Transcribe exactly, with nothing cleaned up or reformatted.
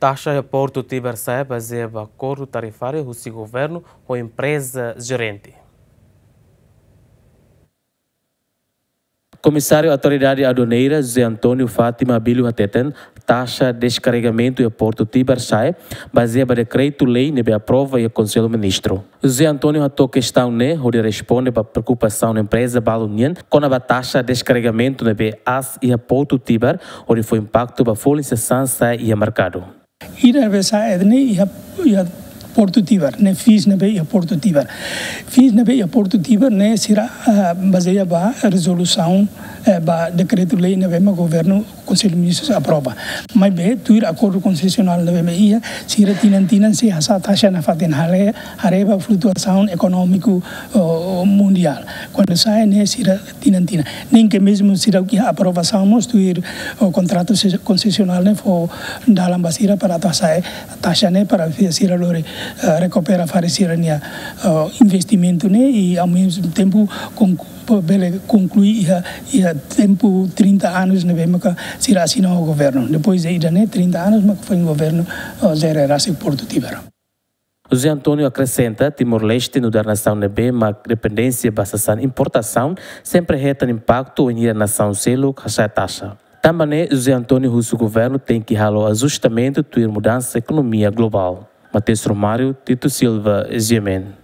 Taxa iha Portu Tibar sa'e bazeia ba akordu tarifáriu husi governu ho empreza jerente. Komisáriu Autoridade Aduaneira, José António Fátima Abílio hateten, taxa deskarregamentu iha Portu Tibar sa'e bazeia ba dekretu-lei ne'ebé aprova iha Konsellu Ministru. José António hato'o kestaun ne'e hodi responde ba preokupasaun empreza balu nian kona-ba taxa deskarregamentu ne'ebé aas iha Portu Tibar, hodi fó impaktu ba folin sasán sa'e iha merkadu. Ida ne'ebé sa'e ne'e iha, iha Portu Tibar, ne'e fees ne'ebé iha Portu Tibar. Fees ne'ebé iha Portu Tibar ne'e sira, ah, bazeia ba rezolusaun, eh, ba dekretu-lei ne'ebé mak governu, Konsellu Ministrus aprova. Maibé tuir akordu konsesionál ne'ebé mak iha, sira tinan-tinan sei hasa'e taxa nafatin, haree, haree ba flutuasaun ekonómiku, oh, mundiál. Kuandu sa'e ne'e sira tinan-tinan. Nein ke mezmu sira iha aprovasaun mós tuir, oh, kontratu se-, konsesionál ne'e fó dalan ba sira para atu hasa'e taxa ne'e para sira lori, eh, rekupera fali sira-nia, eh, investimentu ne'e i ao mesmo tempo kon-, bele konklui iha, iha tempu trinta anos ne'ebé maka sira asina ho governu. Depois de ida-ne'e trinta anos maka foin governu, eh, jere rasik Portu Tibar. José António akresenta, Timor-Leste nu'udar nasaun ne'ebé mak dependénsia ba sasán importasaun, sempre hetan impaktu wainhira nasaun seluk hasa'e taxa. Tanba ne'e, José António husu governu tenke halo ajustamentu tuir mudansa ekonomia globál. Mateus Romário, Tito Silva, G M N.